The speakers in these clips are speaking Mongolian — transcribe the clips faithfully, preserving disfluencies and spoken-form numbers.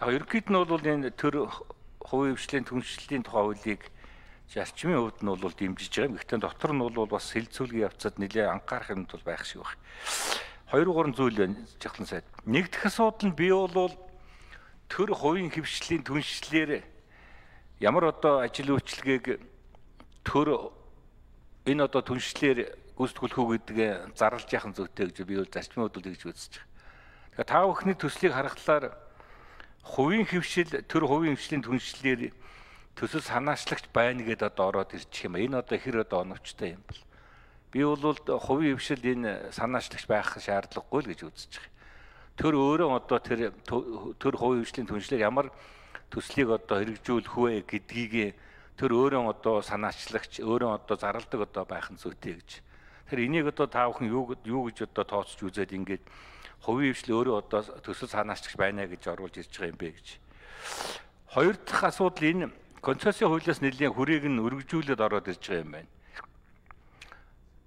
Яг ерөнхийд нь бол энэ төр хувийн хвшлийн түншлэлийн тухай хуулийг зарчмын хувьд нь бол дэмжиж байгаа. Гэхдээ дотор нь бол бас хэлцүүлгийн явцад нэлээд анхаарах юм бол байх шиг байна. Хоёр гурван зүйл байна жахлан сайд. Нэгдэх асуудал нь би бол төр хувийн хвшлийн түншлэлээр ямар одоо ажил үйлчилгээг төр энэ одоо түншлэлээр гүйцэтгүүлэх үү гэдгээ зарлж яхан зүйтэй гэж би бол зарчмын хувьд тэгж үзэж байгаа. Тэгэхээр та бүхний төслийг харахаар хувийн хвшил төр хувийн хвшлийн түншлэлээр төсөл санаачлагч байна гэдээ одоо ороод ирчих юм. Энэ одоо хэр одоо оновчтой юм бол. Би бол хувийн хвшил энэ санаачлагч байх шаардлагагүй л гэж үзэж байгаа. Тэр өөрөө одоо тэр төр хувийн хвшлийн түншлэлээр ямар төслийг одоо хэрэгжүүлэх вэ гэдгийг тэр өөрөө одоо санаачлагч өөрөө одоо зарладаг одоо байх нь зүйтэй гэж. Тэр энийг одоо та бүхэн юу юу гэж одоо тооцож үзээд ингээд хувийн хвшил өөрөө одоо төсөл санаачлагч байна гэж оруулж ирж байгаа юм бэ гэж. Хоёр дахь асуудал энэ концессийн хуулиас нэлийн хүрээг нь өргөжүүлээд ороод ирж байгаа юм байна.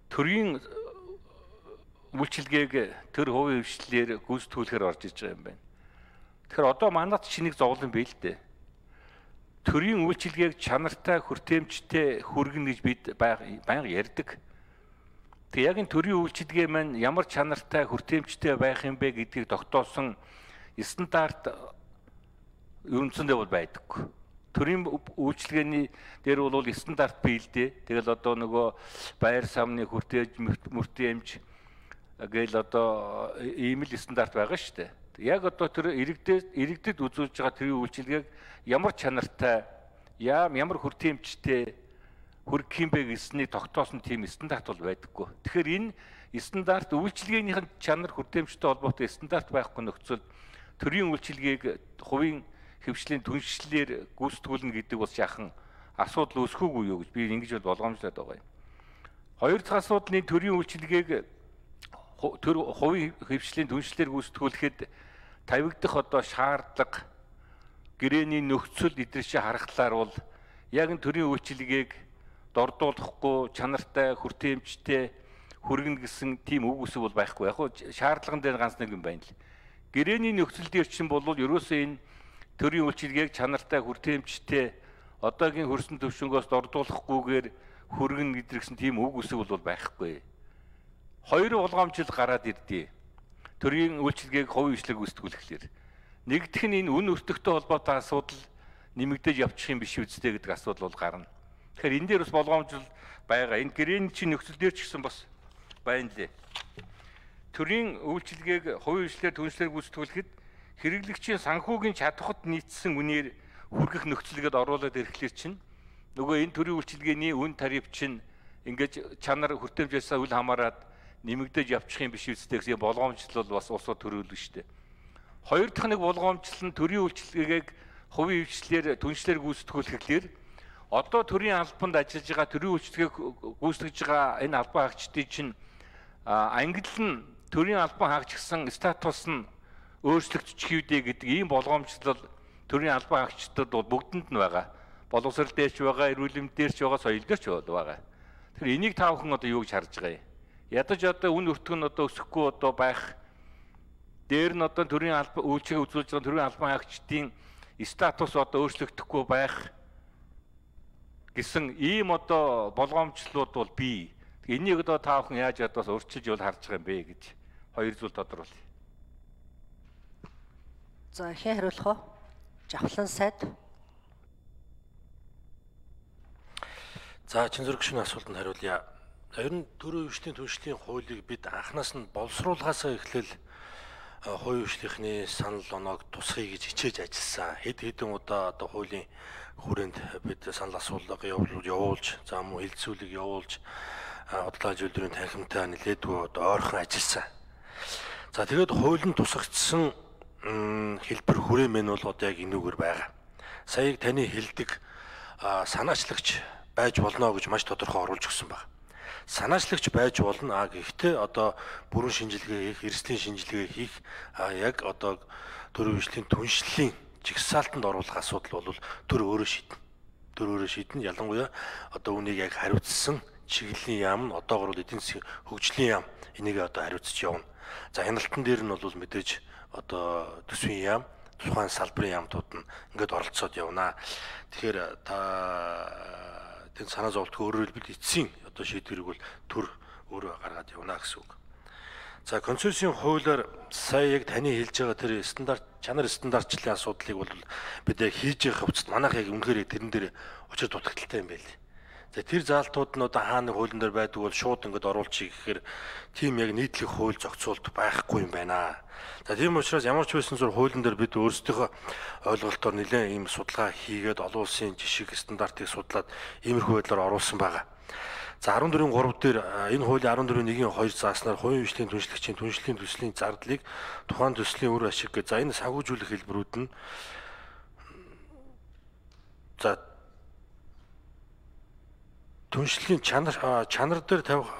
Төрийн үйлчилгээг төр хувийн хвшлээр гүйцэтгүүлэхээр орж ирж байгаа юм байна. Тэгэхээр одоо манайд чинийг зовлон бий л дээ. Төрийн үйлчилгээг чанартай хүртээмжтэй хүргэнэ гэж бид байнга ярьдаг. Тэг яг энэ төрийн үйлчилгээ маань ямар чанартай хүртээмжтэй байх юм бэ гэдгийг тогтоосон стандарт ерөнхийдөө бол байдаггүй. Төрийн үйлчилгээний дээр бол стандарт бий л дээ. Тэгэл одоо нөгөө байр самны хүртээмж мөртээмж гээл одоо ийм л стандарт байгаа шүү дээ. Яг одоо тэр иргэдэд иргэдэд үзүүлж байгаа төрийн үйлчилгээг ямар чанартай, ямар хүртээмжтэй хүргэх юм бэ гэснийг тогтоосон тийм стандарт бол байдаггүй. Тэгэхээр энэ стандарт үйлчилгээнийх нь чанар хүртээмжтэй холбоотой стандарт байхгүй нөхцөл төрийн үйлчилгээг хувийн хвшлийн түншлэлээр гүйцэтгүүлнэ гэдэг бол яахан асуудал үүсэхүүгүй юу гэж би ингэж бол болгоомжлоод байгаа юм. Хоёр дахь асуудал нь төрийн үйлчилгээг төр хувийн хвшлийн түншлэлээр гүйцэтгүүлэхэд тавигдах одоо шаардлага гэрээний нөхцөл эдгэрчээ харахлаар бол яг энэ төрийн үйлчилгээг дордуулахгүй чанартай хүртээмжтэй хүргэнэ гэсэн тийм үг үсэг бол байхгүй. Яг нь шаардлаган дээр ганц нэг юм байна л. Гэрээний нөхцөл дээр чинь бол ерөөсөө энэ төрийн үйлчилгээг чанартай хүртээмжтэй одоогийн хөрсөн төвшнгөөс дордуулахгүйгээр хүргэнэ гэдгсэн тийм үг үсэг бол байхгүй. Хоёр болгоомжил гараад ирдээ. Төрийн үйлчилгээг хувийн хвшлийг гүйцэтгүүлэхлээр нэгдэх нь энэ үн өртөгтэй холбоотой асуудал нэмэгдэж явчих юм биш үстэй гэдэг асуудал бол гарна. Тэгэхээр энэ дээр бас болгоомжил байгаа. Энэ гэрээний чинь нөхцөл дээр ч гэсэн бас байна лээ. Төрийн үйлчилгээг хувийн хвшлээр түншлэлээр гүйцэтгүүлэхэд хэрэглэгчийн санхүүгийн чадхад нийцсэн үнээр хүргэх нөхцөлгээд оруулаад ирэхлээр чинь нөгөө энэ төрийн үйлчилгээний үн тариф чинь ингэж чанар хүртээмжээс үл хамааран нэмэгдэж явчих юм биш үстэй гэсэн болгоомжлол бас улсууд төрүүлнэ шүү дээ. Хоёр дахь нэг болгоомжлол нь төрийн үйлчилгээг хувийн хвшлээр түншлэлээр гүйцэтгүүлэхээр одоо төрийн албанд ажиллаж байгаа төрийн үйлчилгээг гүйцэтгэж байгаа энэ албан хаагчдын чинь ангил нь төрийн албан хаагчсан статус нь өөрчлөгдчих үедээ гэдэг ийм болгоомжлол төрийн албан хаагчдад бол бүгдэнд нь байгаа. Боловсрол дээрч байгаа, эрүүл мэнд дээрч байгаа, соёл дээрч байгаа. Тэгэхээр энийг та бүхэн одоо юу гэж харж байгаа юм? Ядаж одоо үн өртөг нь одоо өсөхгүй одоо байх. Дээр нь одоо төрийн албан үйлчилгээ үзүүлж байгаа төрийн албан хаагчдын статус одоо өөрчлөгдөхгүй байх гэсэн ийм одоо болгоомжлууд бол бий. Энийг одоо та бүхэн яаж ядаас өөрчилж бол харж байгаа юм бэ гэж хоёр зүйл тодруулъя. За хэн хариулах вэ? Жавхлан сайд. За чин зөрөгчний асуултанд хариулъя. Ер нь төрийн хвшлийн түншлэлийн хуулийг бид анхнаас нь боловсруулахаасаа эхлээл хувийн хвшлийнхний санал оноог тусгая гэж хичээж ажилласан. Хэд хэдэн удаа одоо хуулийн хүрээнд бид санал асуулга явуулж, за мөн хэлцүүлэг явуулж, бодлоо зөвлөрийн танхимтай нэлээдгүй одоо ойрхон ажилласан. За тэгээд хуулийн тусгагдсан хэлбэр хүрээмэн бол одоо яг энүүгээр байгаа. Саяг таны хэлдэг санаачлагч байж болно гэж маш тодорхой оруулж өгсөн байна. Санаачлагч байж болно. А гэхдээ одоо бүрэн шинжилгээ хийх, эрсдлийн шинжилгээ хийх яг одоо төрийн хвшлийн түншлэлийн жигсаалтанд оруулах асуудал бол төр өөрөө шийднэ. Төр өөрөө шийднэ. Ялангуяа одоо үнийг яг хариуцсан чиглэлийн яам нь одоогор эдийн засгийн хөгжлийн яам энийг одоо хариуцж явна. За хяналтан дээр нь бол мэдээж одоо төсвийн яам, тухайн салбарын яамтууд нь ингээд оролцоод явна. Тэгэхээр та тэн санаа зовлтгүй өөрөөр хэлбэл эцсийн одоо шийдвэрийг бол төр өөрөө гаргаад явна гэсэн үг. За концессийн хуулиар сая яг таны хэлж байгаа тэр стандарт чанар стандартчлалын асуудлыг бол бид яг хийж явах хувцад манайх яг үнэхээр тэрэн дээр учир дутагдaltaй юм байл. За тэр заалтууд нь одоо хаана хуулийн дээр байдаг бол шууд ингээд оруулчих гэхээр тийм яг нийтлэг хууль зохицуулт байхгүй юм байна. За тийм учраас ямар ч байсан зур хуулийн дээр бид өөрсдийнхөө ойлголтоор нэлээд ийм судалгаа хийгээд олон улсын жишг стандартыг судлаад иймэрхүү байдлаар оруулсан байгаа. За арван дөрвийн гурав дээр энэ хуулийн арван дөрвийн нэгin хоёр зааснаар хувийн хвшлийн түншлэгчийн түншлэлийн төслийн зардлыг тухайн төслийн үр ашиг гэж за энэ санхүүжүүлэх хэлбэрүүд нь за түншлэлийн чанар чанар дээр тавих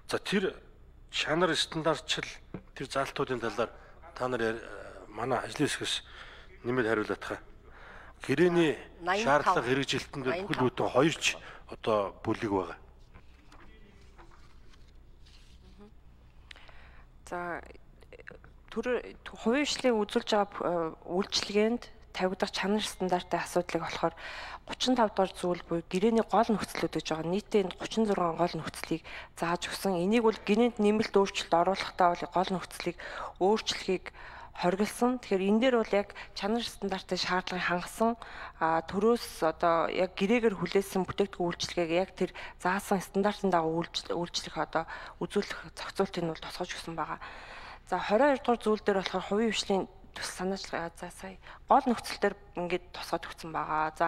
за тэр чанар стандартчил тэр заалтуудын талаар та нар манай ажлын хэсгээс нэмээд хариулах хаа. Гэрээний шаардлага хэрэгжилтэн дээр бүхэл бүтэн хоёр ч одоо бүлэг байгаа. За төр хувийн хвшлийн үзүүлж байгаа үйлчилгээнд тавигдах чанар стандартын асуудлыг болохоор гучин тав дугаар зүйл буюу гэрээний гол нөхцлүүд гэж байгаа. Нийтдээ гучин зургаан гол нөхцлийг зааж өгсөн. Энийг бол гэрээнд нэмэлт өөрчлөлт оруулахдаа бол гол нөхцлийг өөрчлөхийг хоригдсан. Тэгэхээр энэ дээр бол яг чанар стандартын шаардлагыг хангасан төрөөс одоо яг гэрээгээр хүлээсэн бүтээгдэхүүн үйлчилгээг яг тэр заасан стандартын дагуу үйлчлэх одоо үзүүлэх зохицуултыг нь бол тусгаж өгсөн байгаа. За двадцать хоёр дугаар зүйл дээр болохоор хувийн хвшлийн төс санаачлага за сая гол нөхцөл дээр ингээд тусгаж өгсөн байгаа. За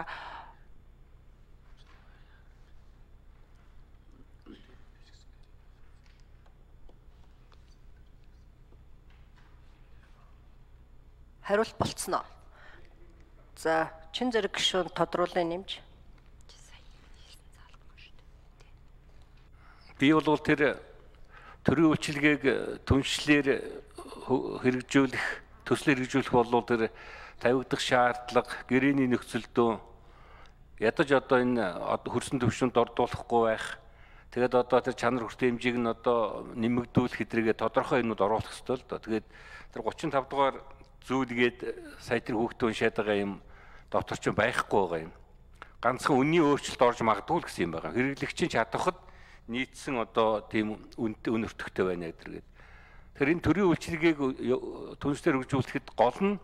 хариулт болцсноо. За чин зэрэг гишүүн тодруулын нэмж. Би бол тэр төрийн үйлчилгээг түншлэлээр хэрэгжүүлэх, төслөөр хэрэгжүүлэх бол тэр тавигдах шаардлага, гэрээний нөхцөлдөө ядаж одоо энэ хөрсөн төвшөнд ордуулахгүй байх. Тэгээд одоо тэр чанар хүртээ хэмжээг нь одоо нэмэгдүүлэх хэдрийгээ тодорхой юмуд оруулах ёстой л доо. Тэгээд тэр гучин тав дугаар зүйлгээд сая тэр хүүхдээ уншаад байгаа юм докторч байхгүй байгаа юм. Ганцхан үнний өөрчлөлт орж магадгүй л гэсэн юм байгаа. Хэрэглэгчийн чадахад нийцсэн одоо тийм үн өртөгтэй байна гэдэргээд. Тэгэхээр энэ төрийн үйлчилгээг түншлэр хөгжүүлэхэд гол нь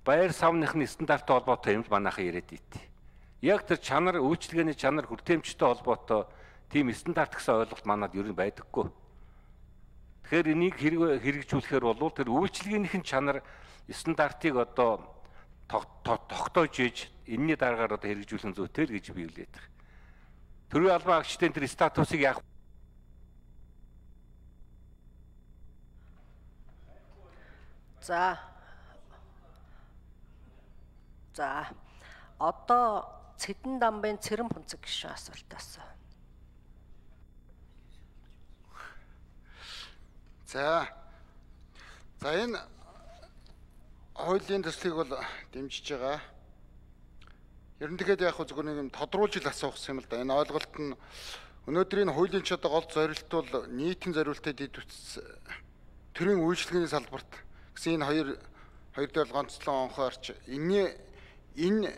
байр савныхны стандарттай холбоотой юмд манайхан яриад ийт. Яг тэр чанар үйлчилгээний чанар хүртээмжтэй холбоотой тийм стандарт гэсэн ойлголт манад ер нь байдаггүй. Тэгэхээр энийг хэрэгжүүлэхээр бол тэр үйлчилгээнийхэн чанар стандартыг одоо тогтоож иж энэний дараагаар одоо хэрэгжүүлэх зүйтэй л гэж би хэлээд байна. Төрийн албан агчдын тэр статусыг яах За За одоо Цэдэн дамбын Цэрэн Пунцэг гишүүн асуултаас. За. За энэ хуулийн төслийг бол дэмжиж байгаа. Ер нь тэгээд яг зөвхөн нэг юм тодруулж ил асуух юм л да. Энэ ойлголт нь өнөөдрийн хуулийн ч одоо гол зорилт бол нийтийн зорилттой дэд үтс төрийн үйлчлэгээний салбарт гэсэн энэ хоёр хоёр дээр ганцлан онхоорч энэ энэ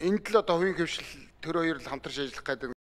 энд л одоо хувийн хвшил төр хоёр л хамтарч ажиллах гэдэг